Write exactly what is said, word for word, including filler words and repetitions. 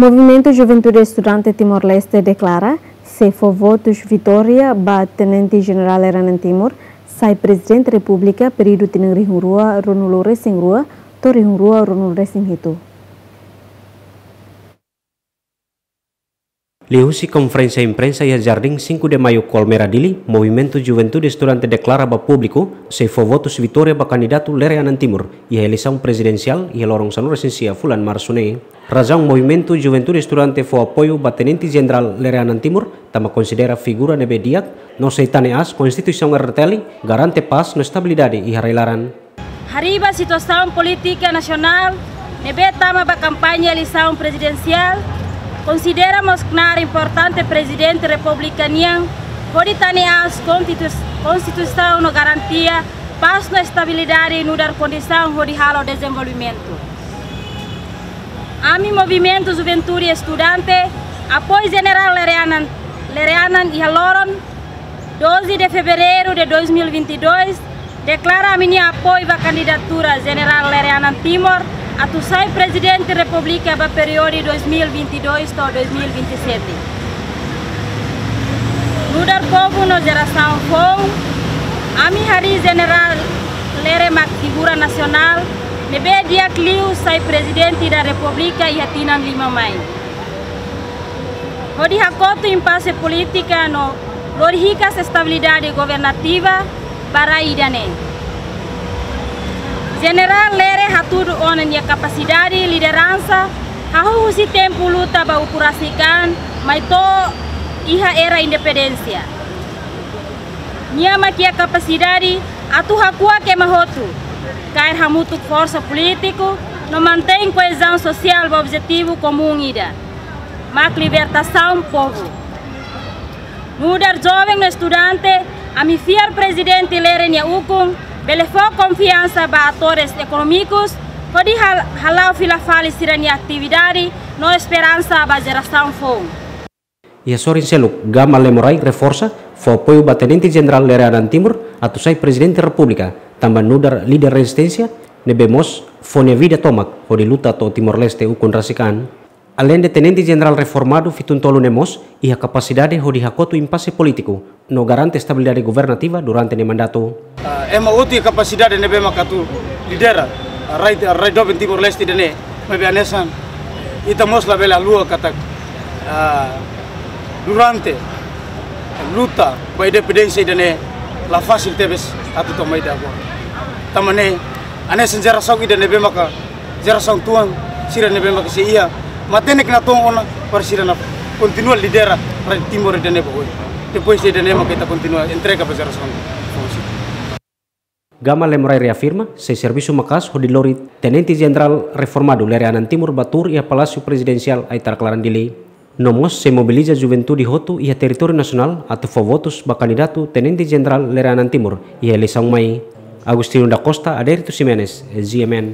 Movimentu Juventude Estudante Timor-Leste deklara sei fó votus vitória ba Tenente Jenerál Lere Anan Timur sai Prezidente Repúblika períodu tinan rihun rua ruanulu resin rua to'o rihun rua ruanulu resin hitu. Liuhusi konferénsia imprensa iha Jardín Cinco de Maio, Colmera, Dili, Movimentu Juventude Estudante deklara ba públiku sei fó votus vitória ba kandidatu Lere Anan Timur iha eleisaun prezidensiál iha loron sanulu resin sia fulan Marsu ne'e. Razaun Movimentu Juventude Estudante fó apoiu ba Tenente Jenerál Lere Anan Timur tanba konsidera figura ne'ebé di'ak no sei tane aas Konstituisaun R T L garante pás no estabilidade iha rai-laran. Harii ba situasaun polítika nasionál ne'ebé tama ba kampaña eleisaun prezidensiál, konsidera mós knaar importante Prezidente Repúblika nian hodi tane aas konstitus-, Konstituisaun no garantia pás no estabilidade nu'udar kondisaun hodi halo dezenvolvimentu. Ami Movimentu Juventude Estudante apoiu Jenerál Lere Anan, Lere Anan iha loron doze de fevereiro de dois mil e vinte e dois, deklara ami-nia apoiu ba kandidatura Jenerál Lere Anan Timur atu sai Prezidente Repúblika ba períodu dois mil e vinte e dois to'o dois mil e vinte e sete. Nu'udar povu no jerasaun foun, ami harii Jenerál Lere mak figura nasionál ne'ebé di'ak liu sai Prezidente da Repúblika iha tinan lima mai, hodi hakotu impase polítika no lori hikas estabilidade governativa ba rai ida-ne'e. Jenerál Lere hatudu ona nia kapasidade lideransa hahú husi tempu luta ba ukun rasik an mai to'o iha era independénsia. Nia mak iha kapasidade atu hakuak ema hotu, kaer hamutuk forsa polítiku no mantein koezaun sosiál ba objetivu komún ida, mak libertasaun povu. Nu'udar joven no estudante, ami fiar Prezidente Lere nia ukun bele fó konfiansa ba atores ekonómikus hodi hal-, hala'o fila fali sira-nia atividade no esperansa ba jerasaun foun. Iha sorin seluk, Gama Lemorai reforsa fó apoiu ba Tenente Jenerál Lere Anan Timur atu sai Prezidente Repúblika tanba nu'udar líder rezisténsia ne'ebé mós fó nia vida tomak hodi luta to'o Timor-Leste ukun rasik an. Aleinde Tenente Jenerál reformadu fitun tolu ne'e mós iha kapasidade hodi hakotu impase polítiku no garante estabilidade governativa durante nia mandatu. Ah, ema hotu iha kapasidade ne'ebé mak atu lidera, ah, rai, ah, rai doben Timor-Leste ida-ne'e, maibé hanesan ita mós labele haluha katak, ah, durante luta ba independénsia ida-ne'e la fasil tebes atu tama ida agora. Tanba ne'e, hanesan jerasaun ida ne'ebé maka jerasaun tuan sira ne'ebé maka sei iha matenek natoon ona para sira atu kontinua lidera rai Timor ida-ne'e ba oin. Depois ida-ne'e maka ita kontinua entrega ba jerasaun foun sira. Gama Lemorai reafirma sei servisu maka'as hodi lori Tenente Jenerál reformadu Lere Anan Timur ba tuur iha Palásiu Prezidensiál Aitarak Laran, Dili. No mós sei mobiliza juventude hotu iha territóriu nasionál atu fó votus ba kandidatu Tenente Jenerál Lere Anan Timur iha eleisaun mai. Agostinho da Costa, Adérito Ximenes, G M N.